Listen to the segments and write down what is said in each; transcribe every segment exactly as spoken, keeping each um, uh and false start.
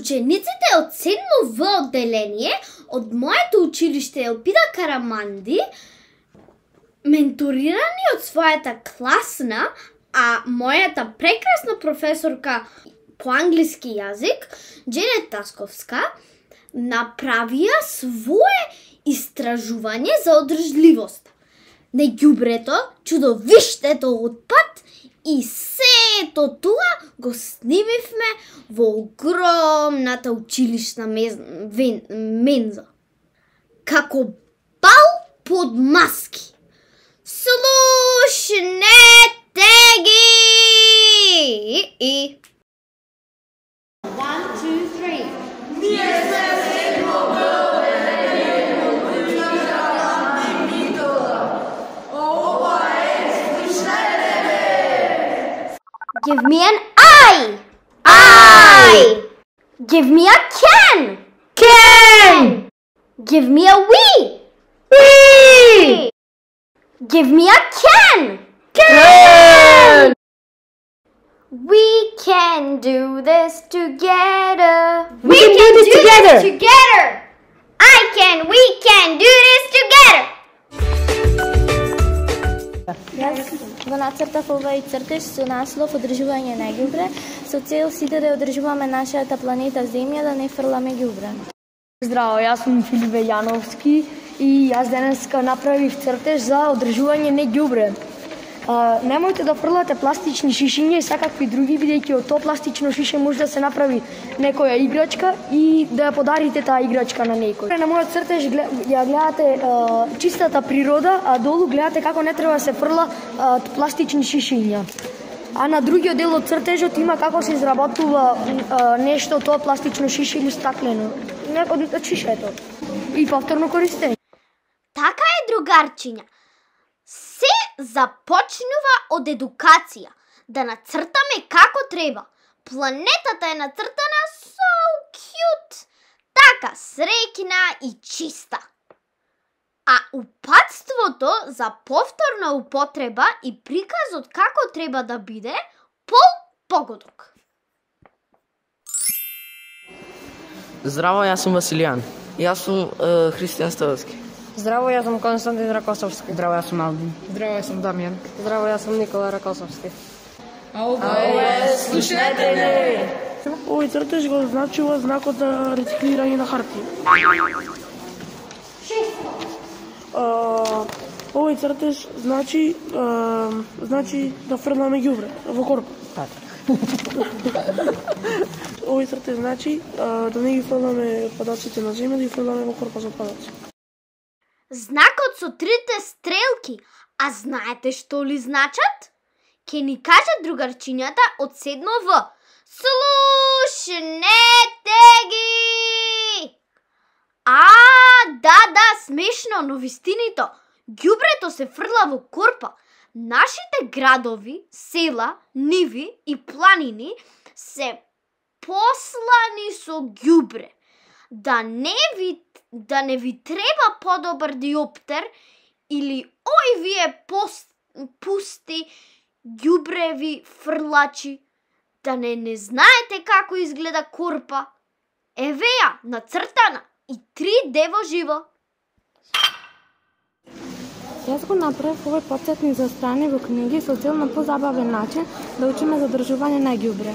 Учениците од седмо В одделение од моето училиште Елпида Караманди, менторирани од својата класна, а мојата прекрасна професорка по англиски јазик, Дженет Тасковска, направија свое истражување за одржливост на ѓубрето, чудовиштето отпад и сето тоа го снимивме во огромната училишна менза. Како бал под маски. Слушнете ги! И One, two, three. Ние сме седмо В одделение. Ова е слушнете. Give me an I. I. Give me a can. Can. Give me a we. We. Give me a can. Can. We can do this together. We, we can, can do this do together. This together. I can, we can do this together. Јас го нацртав овај цртеж со наслов одржување на ѓубре, со цел сите да одржуваме нашата планета Земја, да не фрламе ѓубре. Здраво, јас сум Филипе Јановски и јас денеска направив цртеж за одржување на ѓубре. Uh, немојте да фрлате пластични шишиња и секакви други, бидејќи од тоа пластично шише може да се направи некоја играчка и да ја подарите таа играчка на некој. На мојот цртеж ја гледате uh, чистата природа, а долу гледате како не треба да се фрла uh, пластични шишиња. А на другиот дел од цртежот има како се изработува uh, нешто тоа пластично шише или стаклено. Не од шишето. И повторно користење. Така е, другарчиња. Се започнува од едукација, да нацртаме како треба. Планетата е нацртана so cute, така среќна и чиста. А упатството за повторна употреба и приказот како треба да биде пол погодок. Здраво, јас сум Василијан. Јас сум uh, Христијан Ставовски. Здраво, јас сум Константин Ракосовски. Здраво, јас сум Алдин. Здраво, јас сум Дамјан. Здраво, јас сум Никола Ракосовски. А ова е слушнете не! Овој цртеж го значува знакот за рециклирање на хартија. Овој цртеж значи а, значи да фрламе ѓубре во корпа. Овој цртеж значи а, да не ги фрламе отпадаците на земја, да ги фрламе во корпа за отпадаци. Знакот со трите стрелки, а знаете што ли значат? Ке ни кажат другарчињата од седмо В. Слушнете ги! А, да, да, смешно, но вистинито. Ѓубрето се фрла во корпа. Нашите градови, села, ниви и планини се послани со ѓубре. Да не ви да не ви треба подобар диоптер или ој вие пост, пусти ѓубреви фрлачи, да не не знаете како изгледа корпа. Еве ја, нацртана и три Д во живо. Јас го направив овој потсетник за страни во книги со цел на позабавен начин да учиме за одржување на ѓубре.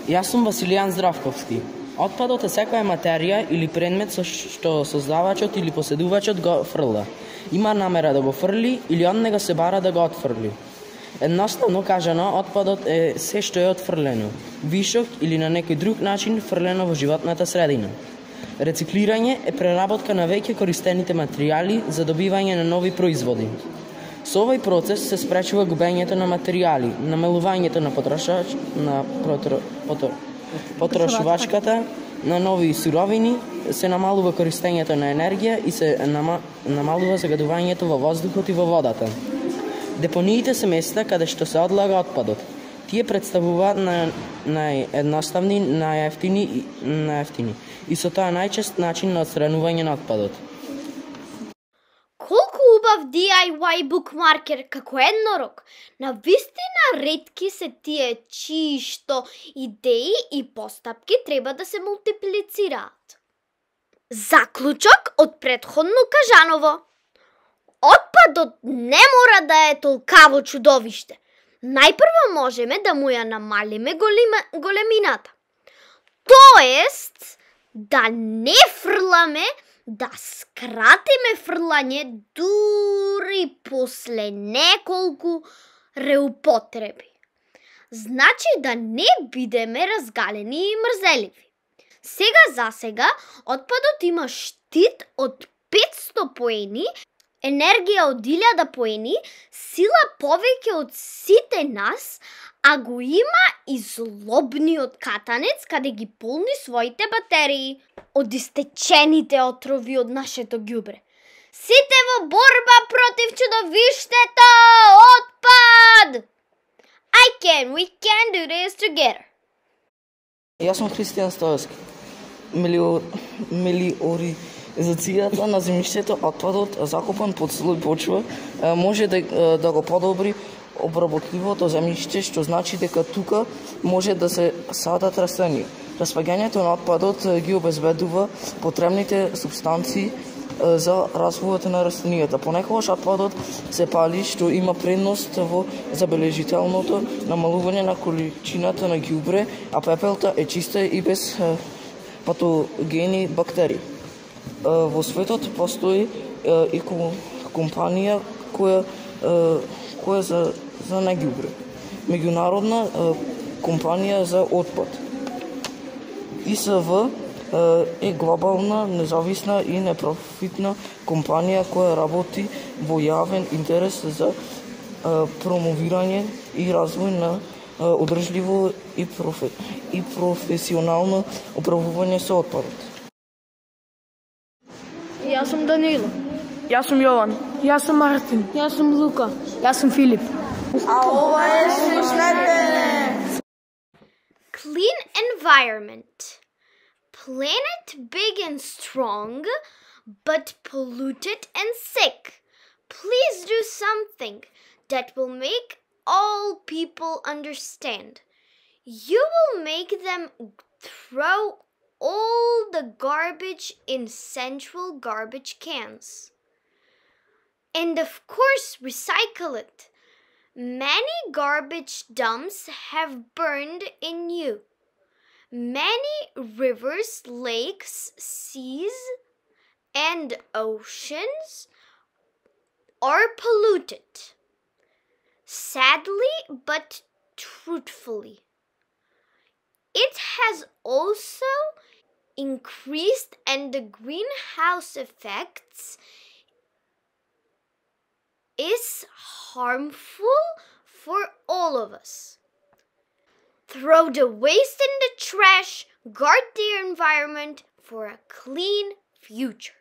Јас сум Василијан Здравковски. Отпадот е секоја материја или предмет со што создавачот или поседувачот го фрла. Има намера да го фрли или од него се бара да го отфрли. Едноставно кажано, отпадот е се што е отфрлено, вишок или на некој друг начин фрлено во животната средина. Рециклирање е преработка на веќе користените материјали за добивање на нови производи. Со овој процес се спречува губењето на материјали, намалувањето на потрошач, на протро, потро, потрошувачката на нови суровини, се намалува користењето на енергија и се нама, намалува загадувањето во воздухот и во водата. Депониите се места каде што се одлага отпадот. Тие представуваат на наједноставни, најефтини и најефтини и со тоа најчест начин на отстранување на отпадот. Колку убав убав ди ај уај букмаркер како еднорог. Навистина ретки се тие чии што идеи и постапки треба да се мултиплицираат. Заклучок од претходно кажаново. Отпадот не мора да е толкаво чудовиште. Најпрво можеме да му ја намалиме голема, големината. Тоест, да не фрламе, да скратиме фрлање дури после неколку реупотреби. Значи да не бидеме разгалени и мрзеливи. Сега за сега, отпадот има штит од петсто поени, енергија од илјада поени, сила повеќе од сите нас, а го има и злобниот катанец каде ги полни своите батерии од истечените отрови од нашето ѓубре. Сите во борба против чудовиштето отпад! I can, we can do this together. Јас сум Христијан Стоевски. Мелиор... Мелиоризацијата на земјиштето, отпадот закопан под слој почва, може да, да го подобри обработливото земјиште, што значи дека тука може да се садат растенија. Распаѓањето на отпадот ги обезбедува потребните субстанции за развојот на растенијата. Понекогаш отпадот се пали, што има предност во забележителното намалување на количината на ѓубре, а пепелта е чиста и без патогени бактерии. Во светот постои и компанија која која за за неѓубре. Меѓународна компанија за отпад. И С В е глобална, независна и непрофитна компанија која работи во јавен интерес за промовирање и развој на одржливо и, профе, и професионално управување со отпадот. Јас сум Данило. Јас сум Јован. Јас сум Мартин. Јас сум Лука. Јас сум Филип. А ова е Слушнете! Clean environment. Planet big and strong, but polluted and sick. Please do something that will make all people understand. You will make them throw all the garbage in central garbage cans. And of course, recycle it. Many garbage dumps have burned in you. Many rivers, lakes, seas, and oceans are polluted. Sadly, but truthfully. It has also increased, and the greenhouse effects is harmful for all of us. Throw the waste in the trash, guard the environment for a clean future.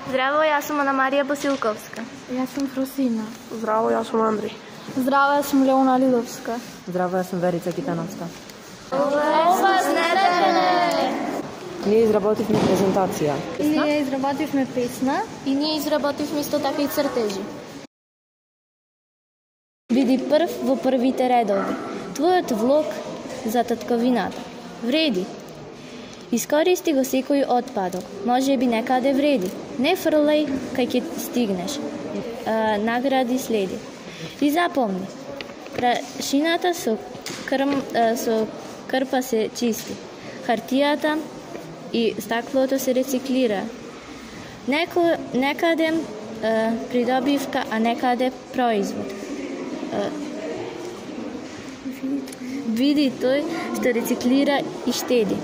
Здраво, јас сум Ана Марија Босилковска. Јас сум Фросина. Здраво, јас сум Андри. Здраво, јас сум Леона Лиловска. Здраво, јас сум Верица Китановска. Ние изработивме презентација. Ние изработивме песна. И ние изработивме исто така и цртежи. Биди прв во првите редови. Твојот влог за татковината. Вреди. Искористи го секој отпадок. Може би некаде вреди. Не фрлај кај ќе стигнеш. А, награди следи. И запомни. Прашината со, крм, а, со крпа се чисти. Хартијата и стаклото се рециклира. Неко, некаде а, придобивка, а некаде производ. А, види тој што рециклира и штеди.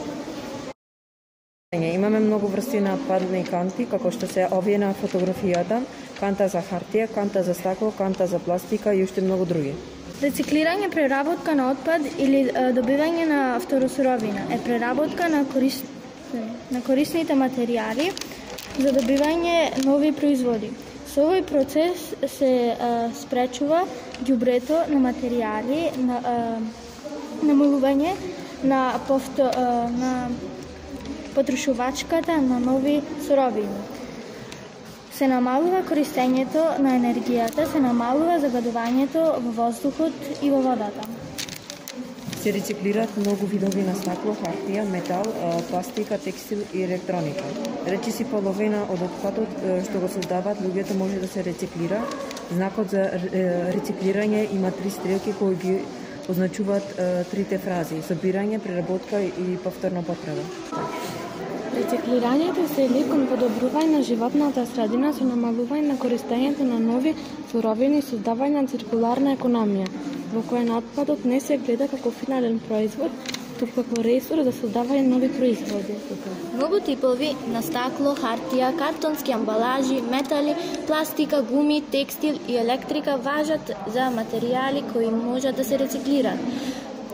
Имаме многу врсти на отпадни канти, како што се овие на фотографијата, канта за хартија, канта за стакло, канта за пластика и уште многу други. Рециклирање, преработка на отпад или е, добивање на второсуровина е преработка на, корис... на корисните материјали за добивање нови производи. Со овој процес се е, спречува ѓубрето на материјали, на е, намалување на, повто, е, на потрошувачката на нови суровини. Се намалува користењето на енергијата, се намалува загадувањето во воздухот и во водата. Се рециклираат многу видови на стакло, хартија, метал, пластика, текстил и електроника. Речиси половина од отпадот што го создаваат луѓето може да се рециклира. Знакот за рециклирање има три стрелки кои ги означуваат трите фрази: собирање, преработка и повторна употреба. Рециклирањето цели кон подобрување на животната средина со намалување на користењето на нови суровини и создавање на циркуларна економија, во која на отпадот не се гледа како финален производ, туку како ресурс за создавање нови производи. Многу типови на стакло, хартија, картонски амбалажи, метали, пластика, гуми, текстил и електрика важат за материјали кои можат да се рециклираат.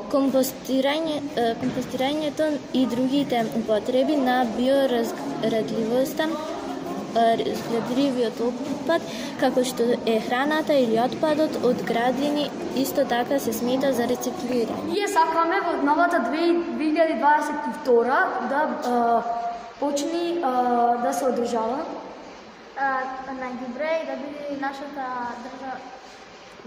Компостирање, компостирањето и другите употреби на биоразградливоста, разградливиот отпад, како што е храната или отпадот од градини, исто така се смета за рециклирање. Ние сакаме во новата две илјади дваесет и втора да а, почни а, да се одржава најдобре и да биде нашата држава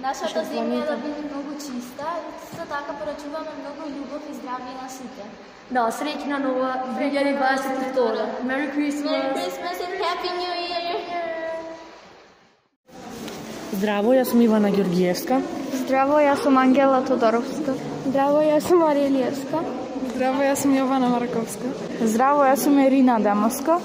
Нашата земја да биде многу чиста, исто така порачуваме многу љубов и здравје на сите. Да, среќна нова две илјади дваесет и втора. Merry Christmas! Merry Christmas and Happy New Year! Здраво, јас сум Ивана Ѓоргиевска. Здраво, јас сум Ангела Тодоровска. Здраво, јас сум Марија Илиевска. Здраво, јас сум Јована Марковска. Здраво, јас сум Ирина Демоска.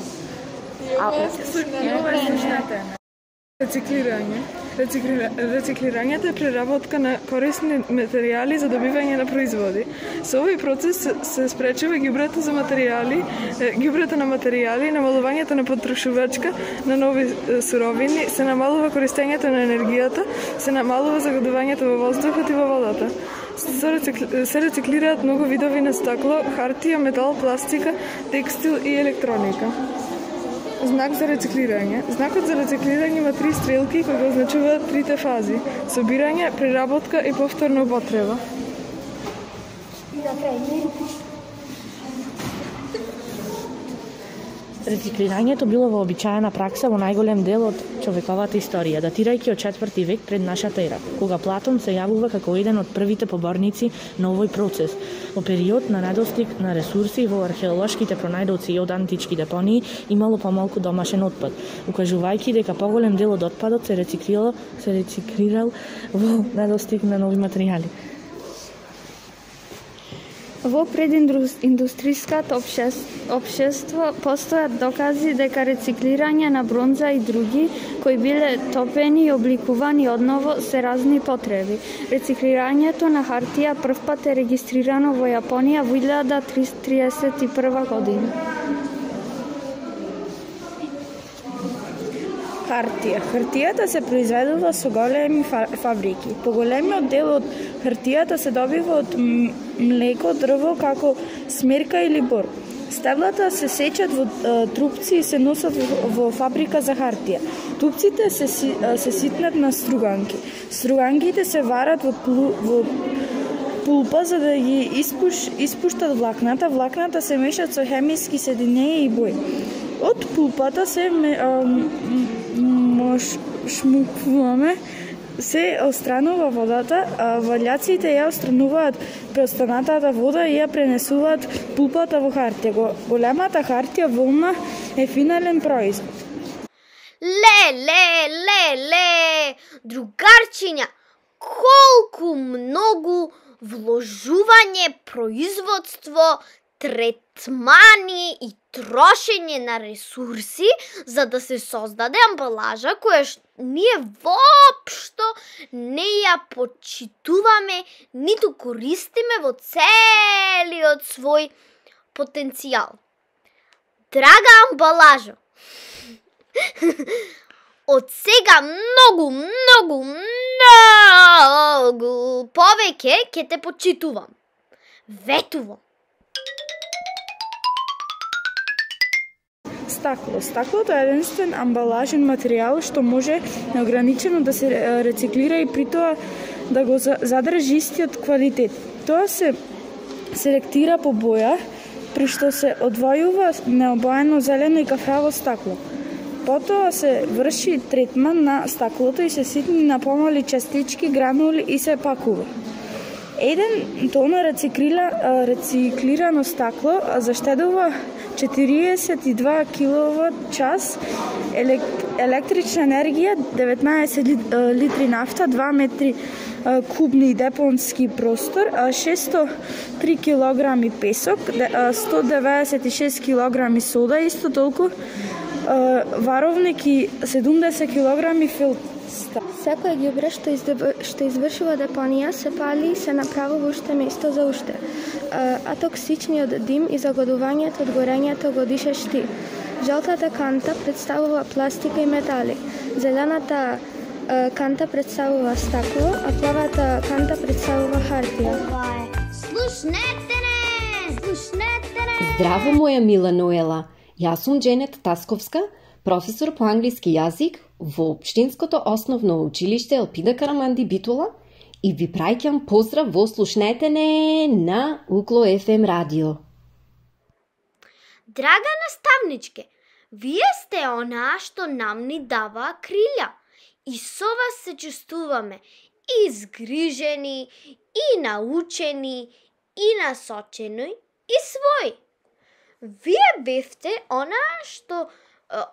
Рециклирање. Рециклира... Рециклирањето е преработка на корисни материјали за добивање на производи. Со овој процес се спречува ѓубрето за материјали, ѓубрето на материјали, намалувањето на потрошувачка на нови суровини, се намалува користењето на енергијата, се намалува загадувањето во воздухот и во водата. Се рециклираат многу видови на стакло, хартија, метал, пластика, текстил и електроника. Знак за рециклирање. Знакот за рециклирање има три стрелки кои го означуваат трите фази: собирање, преработка и повторна употреба. Рециклирањето било вообичаена пракса во најголем дел од човековата историја, датирајќи од четврти век пред нашата ера, кога Платон се јавува како еден од првите поборници на овој процес. Во период на недостиг на ресурси во археолошките пронајдоци од антички депонии имало помалку домашен отпад, укажувајќи дека поголем дел од отпадот се рециклирал, се рециклирал во недостиг на нови материјали. Во прединдустријското општество постојат докази дека рециклирање на бронза и други кои биле топени и обликувани одново се разни потреби. Рециклирањето на хартија првпат е регистрирано во Јапонија во илјада триесет и прва година. Хартија. Хартијата се произведува со големи фабрики. Поголемиот дел од хартијата се добива од млеко, дрво, како смерка или бор. Стеблата се сечат во трупци и се носат во фабрика за хартија. Трупците се, се ситнат на струганки. Струганките се варат во, плу, во пулпа за да ги испуш, испуштат влакната. Влакната се мешат со хемиски соединења и бои. Од пулпата се шмукваме, се отстранува водата, а валјаците ја отстрануваат преостанатата вода и ја пренесуваат пулпата во хартија. Големата хартија волна е финален производ. Ле, ле, ле, ле, другарчиња, колку многу вложување, производство, третмани и трошење на ресурси за да се создаде амбалажа која ние воопшто не ја почитуваме ниту користиме во целиот свој потенцијал. Драга амбалажа, од сега многу, многу, многу повеќе ќе те почитувам. Ветувам. Стакло. Стаклото е единствен амбалажен материјал што може неограничено да се рециклира и при тоа да го задржи истиот квалитет. Тоа се селектира по боја, при што се одвојува необоено зелено и кафраво стакло. Потоа се врши третман на стаклото и се ситни на помали частички, гранули и се пакува. Еден тона рециклира, рециклирано стакло заштедува четириесет и два киловат час електрична енергија, деветнаесет литри нафта, два метри кубни депонски простор, шестsto три килограми песок, сто деветдесет и шест килограми сода, исто толку варовник и седумдесет килограми филтр. Секој ѓубре што, што извршува депонија се пали и се направува уште место за уште. А токсичниот дим и загодувањето од горењето го дишаш ти. Жолтата канта представува пластика и метали. Зелената канта представува стакло, а плавата канта представува хартија. Слушнете не! Слушнете не! Здраво, моја мила Ноела. Јас сум Дженет Тасковска, професор по англиски јазик во Општинското основно училиште Елпида Караманди Битола и ви праќам поздрав во Слушнете не на Укло еф ем радио. Драга наставничке, вие сте онаа што нам ни дава крилја и со вас се чувствуваме и згрижени, и научени, и насочени, и своји. Вие бевте онаа што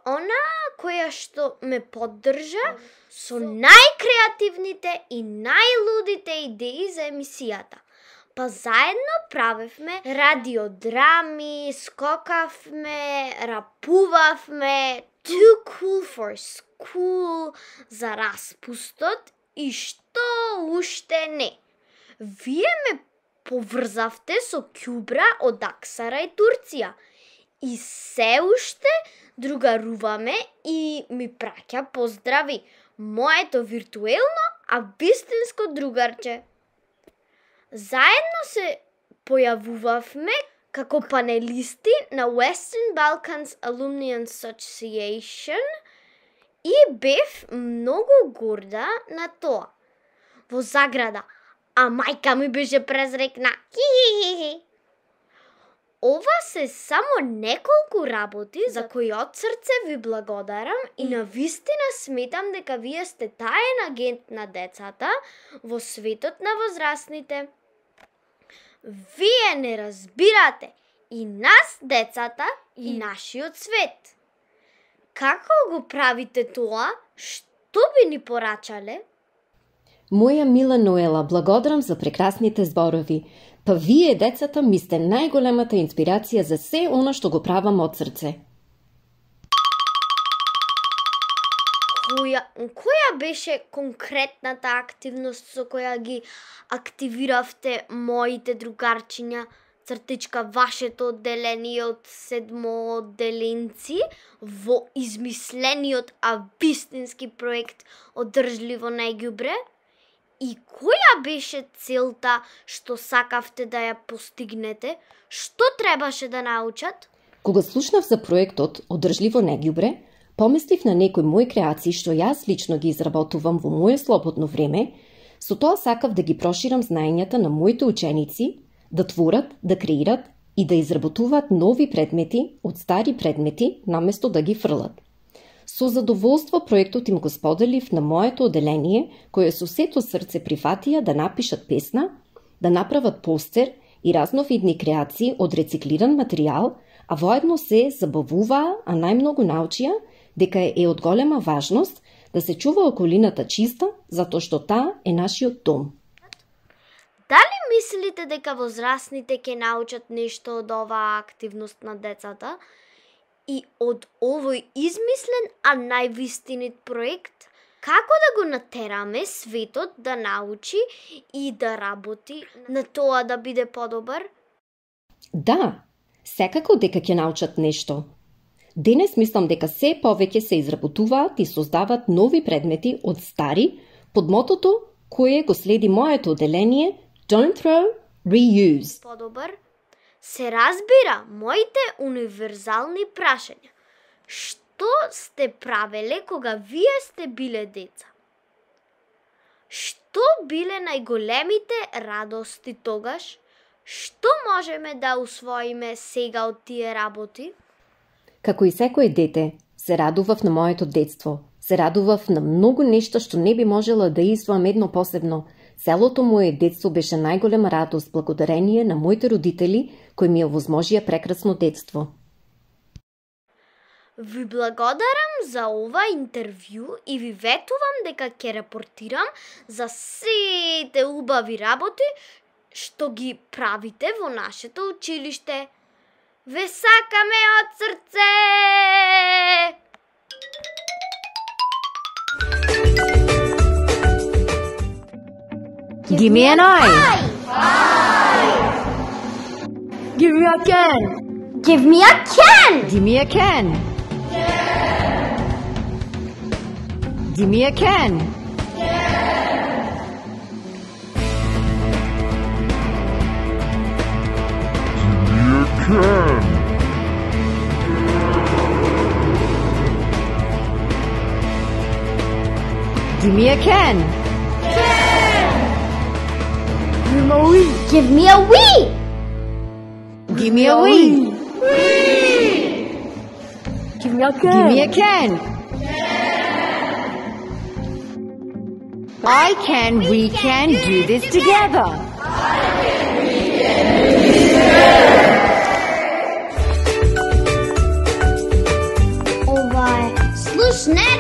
она која што ме поддржа со најкреативните и најлудите идеи за емисијата. Па заедно правевме радиодрами, скокавме, рапувавме, Too Cool for School, за распустот и што уште не. Вие ме поврзавте со ќубра од Аксара и Турција и се уште другаруваме и ми праќа поздрави моето виртуелно, а вистинско другарче. Заедно се појавувавме како панелисти на Western Balkans Alumni Association и бев многу горда на тоа. Во заграда, а мајка ми беше презрекна. Хи-хи-хи. Ова се само неколку работи за кои од срце ви благодарам и навистина сметам дека вие сте таен агент на децата во светот на возрастните. Вие не разбирате и нас, децата, и нашиот свет. Како го правите тоа? Што би ни порачале? Моја мила Ноела, благодарам за прекрасните зборови. Па вие, децата, ми сте најголемата инспирација за се она што го правам од срце. Која, која беше конкретната активност со која ги активиравте моите другарчиња, цртичка вашето одделение од седмоодделенци во измислениот, а вистински проект Одржливо најѓубре? И која беше целта што сакавте да ја постигнете? Што требаше да научат? Кога слушнав за проектот Одржливо најѓубре, помислив на некои мои креации што јас лично ги изработувам во моје слободно време, со тоа сакав да ги проширам знаењата на моите ученици, да творат, да креират и да изработуваат нови предмети од стари предмети, наместо да ги фрлат. Со задоволство проектот им го споделив на моето одделение, кое со сето срце прифатија да напишат песна, да направат постер и разновидни креации од рециклиран материјал, а воедно се забавуваа, а најмногу научија дека е од голема важност да се чува околината чиста, затоа што таа е нашиот дом. Дали мислите дека возрастните ќе научат нешто од оваа активност на децата и од овој измислен, а највистинит проект? Како да го натераме светот да научи и да работи на тоа да биде подобар? Да, секако дека ќе научат нешто. Денес мислам дека се повеќе се изработуваат и создаваат нови предмети од стари под мотото кое го следи моето одделение Don't throw, reuse. Подобар, се разбира моите универзални прашања. Што сте правеле кога вие сте биле деца? Што биле најголемите радости тогаш? Што можеме да усвоиме сега од тие работи? Како и секое дете, Се радував на моето детство. Се радував на многу нешта што не би можела да издвоам едно посебно. Целото мое детство беше најголема радост благодарение на моите родители кои ми овозможија прекрасно детство. Ви благодарам за ова интервју и ви ветувам дека ќе репортирам за сите убави работи што ги правите во нашето училиште. Ве сакаме од срце! Give me an eye! Give me a can! Give me a can! Give me a can! Give me a can! Give me a can! Give me a wee! Give me a wee! Give me a wee! Give me a can! Give me a can! I can, we can do this together! Ова е Слушне!